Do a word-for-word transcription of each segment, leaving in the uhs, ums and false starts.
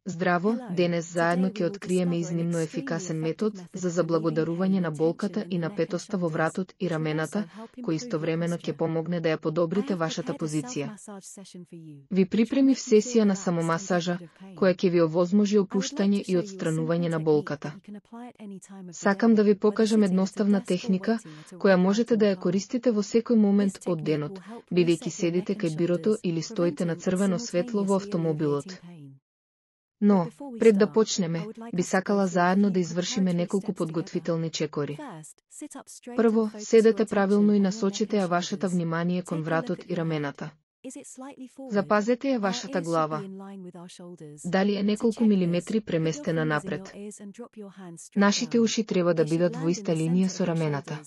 Здраво, денес заедно ќе откриеме изнимно ефикасен метод за заблагодарување на болката и напетоста во вратот и рамената, кој истовремено ќе помогне да ја подобрите вашата позиција. Ви припремив сесија на самомасажа, која ќе ви овозможи опуштање и отстранување на болката. Сакам да ви покажам едноставна техника, која можете да ја користите во секој момент од денот, бидејќи седите кај бирото или стоите на црвено светло во автомобилот. Но, пред да почнеме, би сакала заедно да извршиме неколку подготвителни чекори. Прво, седете правилно и насочите ја вашата внимание кон вратот и рамената. Запазете ја вашата глава. Дали е неколку милиметри преместена напред. Нашите уши треба да бидат во иста линија со рамената.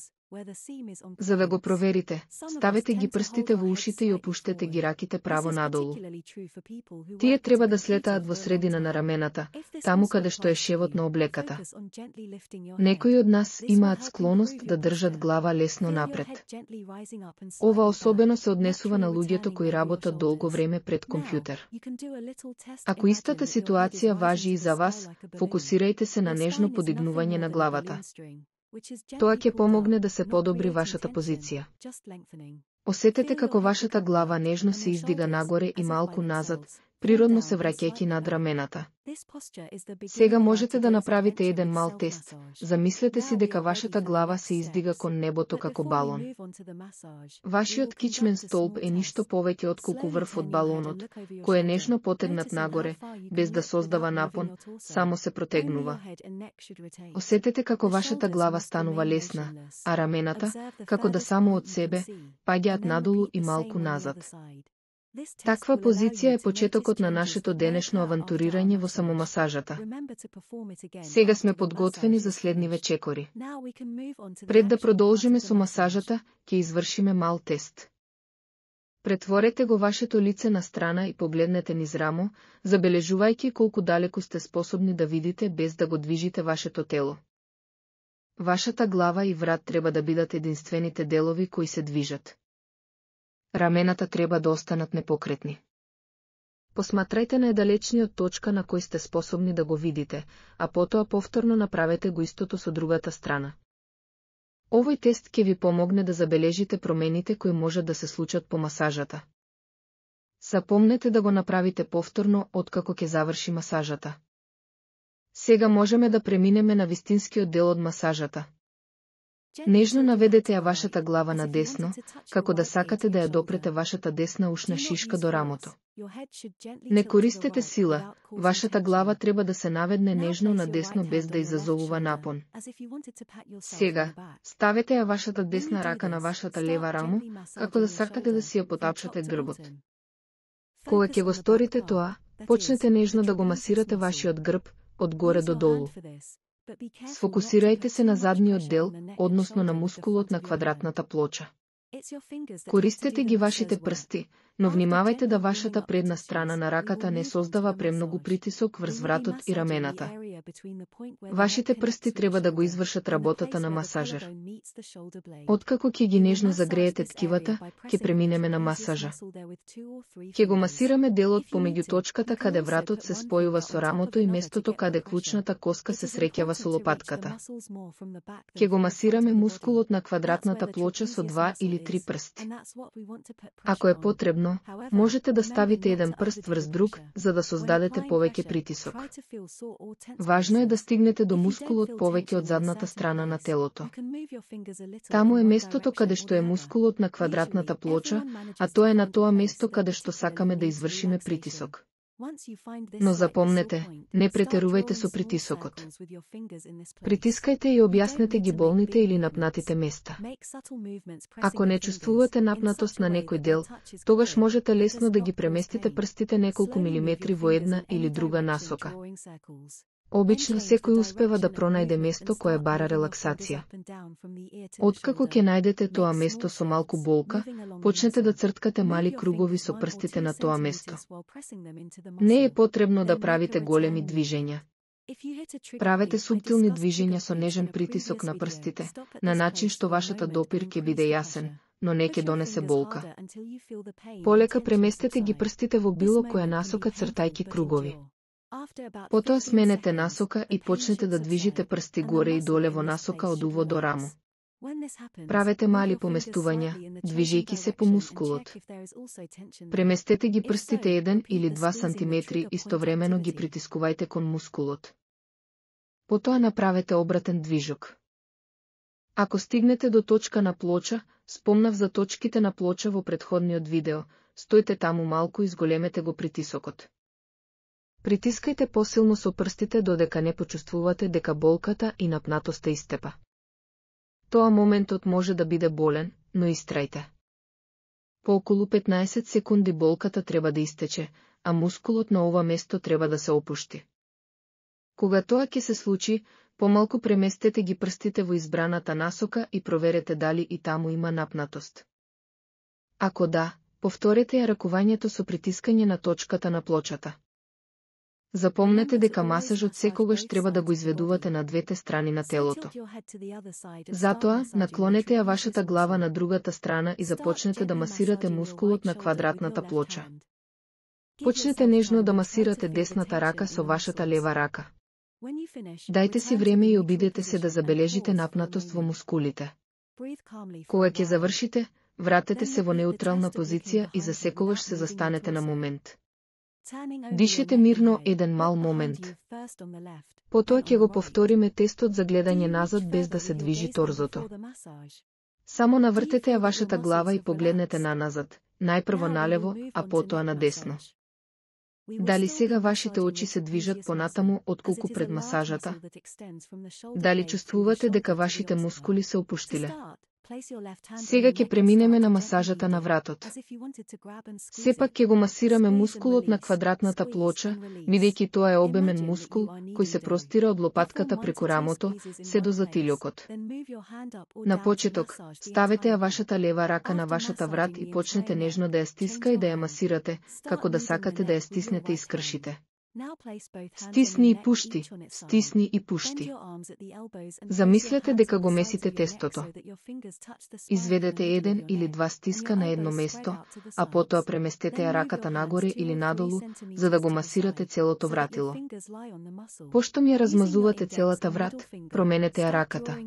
За да го проверите, ставете ги прстите во ушите и опуштете ги раките право надолу. Тие треба да слетаат во средина на рамената, таму каде што е шевот на облеката. Некои од нас имаат склоност да држат глава лесно напред. Ова особено се однесува на луѓето кои работат долго време пред компјутер. Ако истата ситуација важи и за вас, фокусирајте се на нежно подигнување на главата. Тоа ќе помогне да се подобри вашата позиција. Осетете како вашата глава нежно се издига нагоре и малку назад, природно се враќајќи над рамената. Сега можете да направите еден мал тест. Замислете си дека вашата глава се издига кон небото како балон. Вашиот кичмен столб е ништо повеќе отколку врв од балонот, кој е нежно потегнат нагоре, без да создава напон, само се протегнува. Осетете како вашата глава станува лесна, а рамената, како да само од себе, паѓаат надолу и малку назад. Таква позиција е почетокот на нашето денешно авантурирање во самомасажата. Сега сме подготвени за следниве чекори. Пред да продолжиме со масажата, ќе извршиме мал тест. Претворете го вашето лице на страна и погледнете низ рамо, забележувајќи колку далеку сте способни да видите без да го движите вашето тело. Вашата глава и врат треба да бидат единствените делови кои се движат. Рамената треба да останат непокретни. Посматрајте најдалечниот точка на кој сте способни да го видите, а потоа повторно направете го истото со другата страна. Овој тест ќе ви помогне да забележите промените кои можат да се случат по масажата. Запомнете да го направите повторно откако ќе заврши масажата. Сега можеме да преминеме на вистинскиот дел од масажата. Нежно наведете ја вашата глава надесно, како да сакате да ја допрете вашата десна ушна шишка до рамото. Не користете сила, вашата глава треба да се наведне нежно надесно без да изазовува напон. Сега, ставете ја вашата десна рака на вашата лева рамо, како да сакате да си ја потапшате грбот. Кога ќе го сторите тоа, почнете нежно да го масирате вашиот грб, од горе до долу. Сфокусирајте се на задниот дел, односно на мускулот на квадратната плоча. Користете ги вашите прсти, но внимавајте да вашата предна страна на раката не создава премногу притисок врз вратот и рамената. Вашите прсти треба да го извршат работата на масажер. Откако ќе ги нежно загреете ткивата, ќе преминеме на масажа. Ќе го масираме делот помеѓу точката каде вратот се спојува со рамото и местото каде клучната коска се среќава со лопатката. Ќе го масираме мускулот на квадратната плоча со два или три прсти. Ако е потребно, можете да ставите еден прст врз друг, за да создадете повеќе притисок. Важно е да стигнете до мускулот повеќе од задната страна на телото. Таму е местото каде што е мускулот на квадратната плоча, а тоа е на тоа место каде што сакаме да извршиме притисок. Но запомнете, не претерувајте со притисокот. Притискајте и објаснете ги болните или напнатите места. Ако не чувствувате напнатост на некој дел, тогаш можете лесно да ги преместите прстите неколку милиметри во една или друга насока. Обично секој успева да пронајде место кое бара релаксација. Откако ќе најдете тоа место со малку болка, почнете да црткате мали кругови со прстите на тоа место. Не е потребно да правите големи движења. Правете суптилни движења со нежен притисок на прстите, на начин што вашата допир ќе биде јасен, но не ќе донесе болка. Полека преместете ги прстите во било која насока цртајки кругови. Потоа сменете насока и почнете да движите прсти горе и доле во насока од уво до рамо. Правете мали поместувања, движејќи се по мускулот. Преместете ги прстите еден или два сантиметри, истовремено ги притискувајте кон мускулот. Потоа направете обратен движок. Ако стигнете до точка на плоча, спомнав за точките на плоча во претходниот видео, стојте таму малку и зголемете го притисокот. Притискајте посилно со прстите додека не почувствувате дека болката и напнатоста истепа. Тоа моментот може да биде болен, но истрајте. По околу петнаесет секунди болката треба да истече, а мускулот на ова место треба да се опушти. Кога тоа ќе се случи, помалку преместете ги прстите во избраната насока и проверете дали и таму има напнатост. Ако да, повторете ја ракувањето со притискање на точката на плочата. Запомнете дека масажот секогаш треба да го изведувате на двете страни на телото. Затоа, наклонете ја вашата глава на другата страна и започнете да масирате мускулот на квадратната плоча. Почнете нежно да масирате десната рака со вашата лева рака. Дајте си време и обидете се да забележите напнатост во мускулите. Кога ќе завршите, вратете се во неутрална позиција и за секогаш се застанете на момент. Дишете мирно еден мал момент. Потоа ќе го повториме тестот за гледање назад без да се движи торзото. Само навртете ја вашата глава и погледнете на назад, најпрво налево, а потоа на десно. Дали сега вашите очи се движат понатаму отколку пред масажата? Дали чувствувате дека вашите мускули се опуштиле? Сега ќе преминеме на масажата на вратот. Сепак ќе го масираме мускулот на квадратната плоча, бидејќи тоа е обемен мускул, кој се простира од лопатката преку рамото, се до затилјокот. На почеток, ставете ја вашата лева рака на вашата врат и почнете нежно да ја стиска и да ја масирате, како да сакате да ја стиснете и скршите. Стисни и пушти, стисни и пушти. Замислете дека го месите тестото. Изведете еден или два стиска на едно место, а потоа преместете ја раката нагоре или надолу, за да го масирате целото вратило. Пошто ми ја размазувате целата врат, променете ја раката.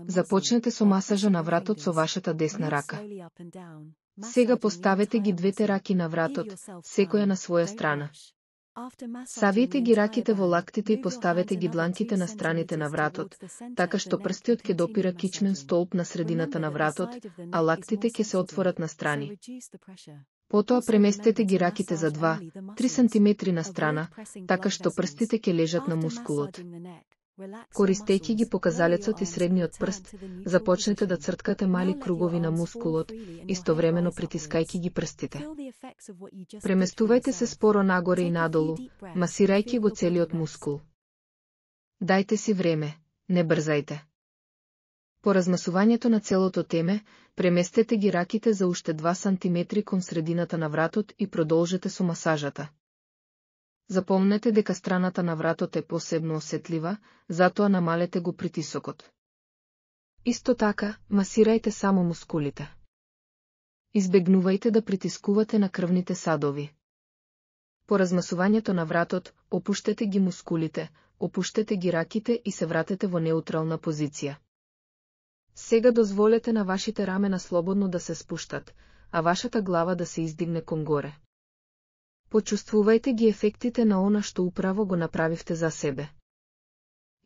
Започнете со масажа на вратот со вашата десна рака. Сега поставете ги двете раки на вратот, секоја на своја страна. Савиете ги раките во лактите и поставете ги дланките на страните на вратот, така што прстиот ќе допира кичмен столб на средината на вратот, а лактите ќе се отворат на страни. Потоа преместете ги раките за два до три сантиметри на страна, така што прстите ќе лежат на мускулот. Користејќи ги показалецот и средниот прст, започнете да црткате мали кругови на мускулот, истовремено притискајќи ги прстите. Преместувајте се споро нагоре и надолу, масирајќи го целиот мускул. Дајте си време, не брзајте. По размасувањето на целото теме, преместете ги раките за уште два сантиметри кон средината на вратот и продолжете со масажата. Запомнете дека страната на вратот е посебно осетлива, затоа намалете го притисокот. Исто така, масирајте само мускулите. Избегнувајте да притискувате на крвните садови. По размасувањето на вратот, опуштете ги мускулите, опуштете ги раките и се вратете во неутрална позиција. Сега дозволете на вашите рамена слободно да се спуштат, а вашата глава да се издигне кон горе. Почувствувајте ги ефектите на она што управо го направивте за себе.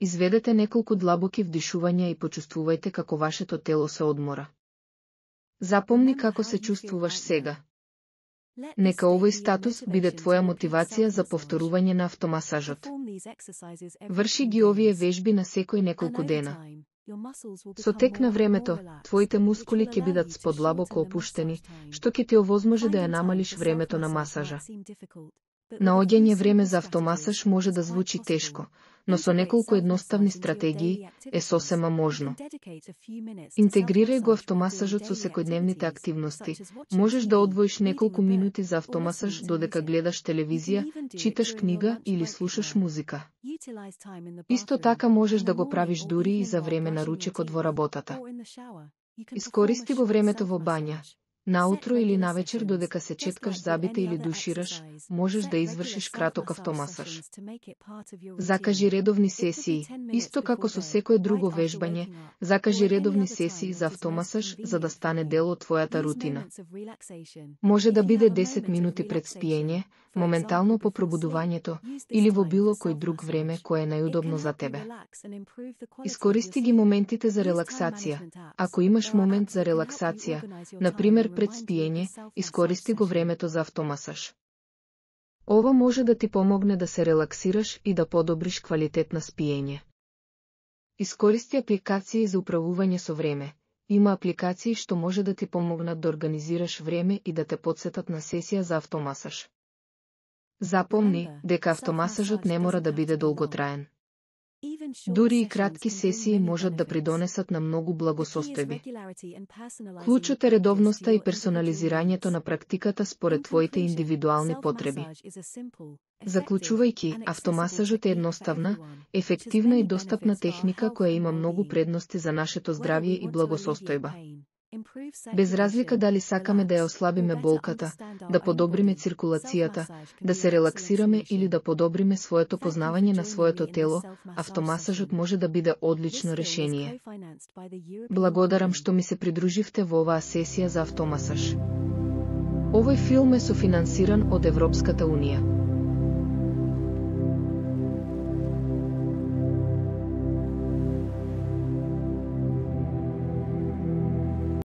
Изведете неколку длабоки вдишувања и почувствувајте како вашето тело се одмора. Запомни како се чувствуваш сега. Нека овој статус биде твоја мотивација за повторување на автомасажот. Врши ги овие вежби на секој неколку дена. Со тек на времето, твоите мускули ќе бидат сподлабоко опуштени, што ќе ти овозможи да ја намалиш времето на масажа. Наоѓање време за автомасаж може да звучи тешко, но со неколку едноставни стратегии е сосема можно. Интегрирај го автомасажот со секојдневните активности. Можеш да одвоиш неколку минути за автомасаж додека гледаш телевизија, читаш книга или слушаш музика. Исто така можеш да го правиш дури и за време на ручекот во работата. Искористи го времето во бања. Наутро или навечер додека се четкаш забите или душираш, можеш да извршиш краток автомасаж. Закажи редовни сесии, исто како со секое друго вежбање, закажи редовни сесии за автомасаж за да стане дел од твојата рутина. Може да биде десет минути пред спиење, моментално по пробудувањето, или во било кој друг време кое е најудобно за тебе. Искористи ги моментите за релаксација. Ако имаш момент за релаксација, например пред спиење, искористи го времето за автомасаж. Ова може да ти помогне да се релаксираш и да подобриш квалитет на спиење. Искористи апликации за управување со време. Има апликации што може да ти помогнат да организираш време и да те потсетат на сесија за автомасаж. Запомни дека автомасажот не мора да биде долготраен. Дури и кратки сесии можат да придонесат на многу благосостојби. Клучот е редовноста и персонализирањето на практиката според твоите индивидуални потреби. Заклучувајќи, автомасажот е едноставна, ефективна и достапна техника која има многу предности за нашето здравје и благосостојба. Без разлика дали сакаме да ја ослабиме болката, да подобриме циркулацијата, да се релаксираме или да подобриме своето познавање на своето тело, автомасажот може да биде одлично решение. Благодарам што ми се придруживте во оваа сесија за автомасаж. Овој филм е софинансиран од Европската унија.